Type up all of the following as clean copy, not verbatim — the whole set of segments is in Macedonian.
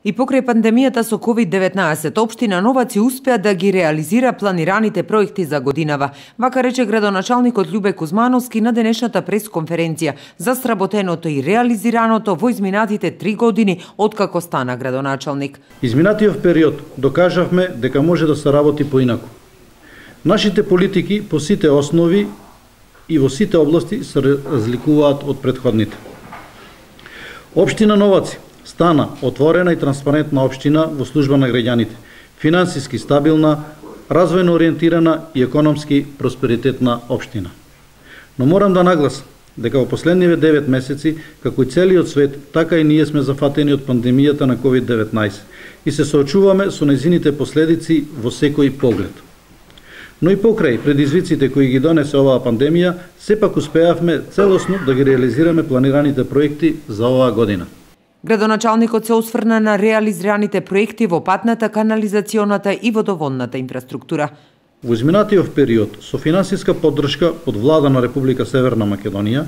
И покрај пандемијата со COVID-19, општина Новаци успеа да ги реализира планираните проекти за годинава, вака рече градоначалникот Љубе Кузмановски на денешната пресконференција за сработеното и реализираното во изминатите 3 години откако стана градоначалник. Изминатиот период докажавме дека може да се работи поинаку. Нашите политики по сите основи и во сите области се разликуваат од претходните. Општина Новаци стана отворена и транспарентна општина во служба на граѓаните, финансиски стабилна, развојно ориентирана и економски просперитетна општина. Но морам да нагласам дека во последниве 9 месеци, како и целиот свет, така и ние сме зафатени од пандемијата на COVID-19 и се соочуваме со нејзините последици во секој поглед. Но и покрај предизвиците кои ги донесе оваа пандемија, сепак успеавме целосно да ги реализираме планираните проекти за оваа година. Градоначалникот се осврна на реализираните проекти во патната, канализационата и водоводната инфраструктура. Во изминатиот период, со финансиска поддршка од влада на Република Северна Македонија,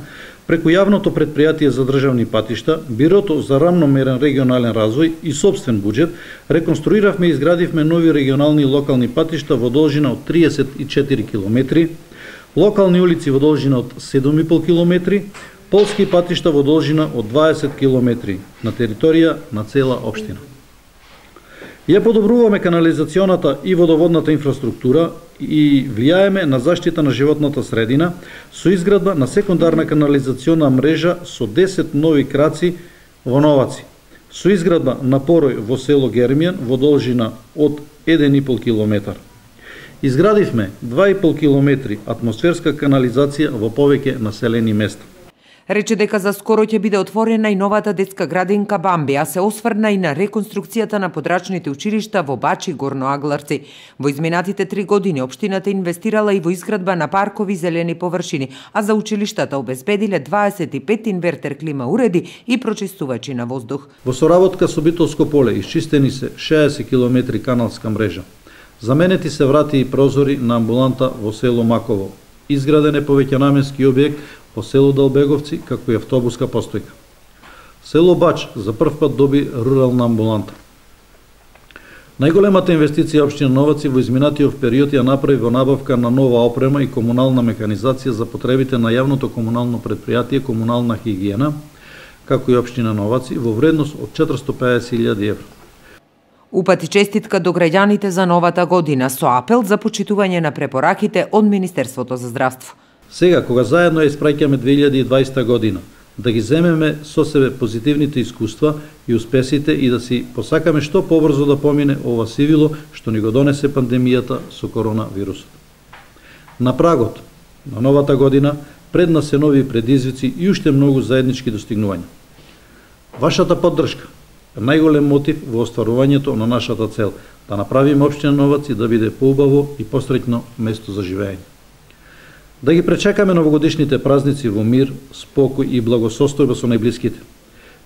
преку јавното претпријатие за државни патишта, Бирото за рамномерен регионален развој и собствен буџет, реконструиравме и изградивме нови регионални и локални патишта во должина од 34 км, локални улици во должина од 7,5 км, полски патишта во должина од 20 км на територија на цела општина. Ја подобруваме канализационата и водоводната инфраструктура и влијаеме на заштита на животната средина со изградба на секундарна канализациона мрежа со 10 нови краци во Новаци, со изградба на порој во село Гермијан во должина од 1,5 км. Изградивме 2,5 км атмосферска канализација во повеќе населени места. Рече дека за скоро ќе биде отворена и новата детска градинка Бамби, а се осврна и на реконструкцијата на подрачните училишта во Бачи и Горно Агларци. Во изминатите 3 години општината инвестирала и во изградба на паркови и зелени површини, а за училиштата обезбедиле 25 инвертер клима уреди и прочистувачи на воздух. Во соработка со Битолско поле исчистени се 60 км каналска мрежа. Заменети се врати и прозори на амбуланта во село Маково. Изграден е повеќенаменски објект во село Далбеговци, како и автобуска постојка. Село Бач за прв пат доби рурална амбуланта. Најголемата инвестиција општина Новаци во изминатиот период ја направи во набавка на нова опрема и комунална механизација за потребите на јавното комунално претпријатие Комунална хигиена, како и општина Новаци, во вредност од 450.000 евро. Упати честитка до граѓаните за новата година со апел за почитување на препораките од Министерството за здравство. Сега, кога заедно ја испраќаме 2020 година, да ги земеме со себе позитивните искуства и успесите и да си посакаме што побрзо да помине ова сивило што ни го донесе пандемијата со коронавирусот. На прагот на новата година пред нас се нови предизвици и уште многу заеднички достигнувања. Вашата поддршка е најголем мотив во остварувањето на нашата цел, да направиме општина Новаци да биде поубаво и посреќно место за живење. Да ги пречекаме новогодишните празници во мир, спокој и благосостојба со најблиските.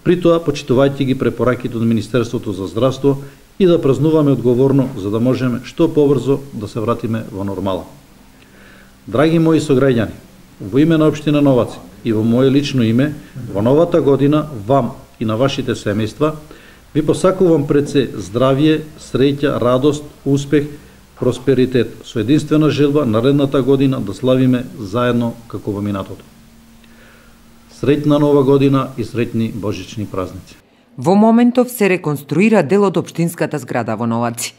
При тоа почитувајќи ги препораките од Министерството за здравство и да празнуваме одговорно за да можеме што побрзо да се вратиме во нормала. Драги мои сограѓани, во име на општина Новаци и во моје лично име, во новата година вам и на вашите семејства ви посакувам пред се здравје, среќа, радост, успех, просперитет, со единствена желба наредната година да славиме заедно како во минатото. Среќна нова година и среќни божични празници. Во моментов се реконструира дел од општинската зграда во Новаци.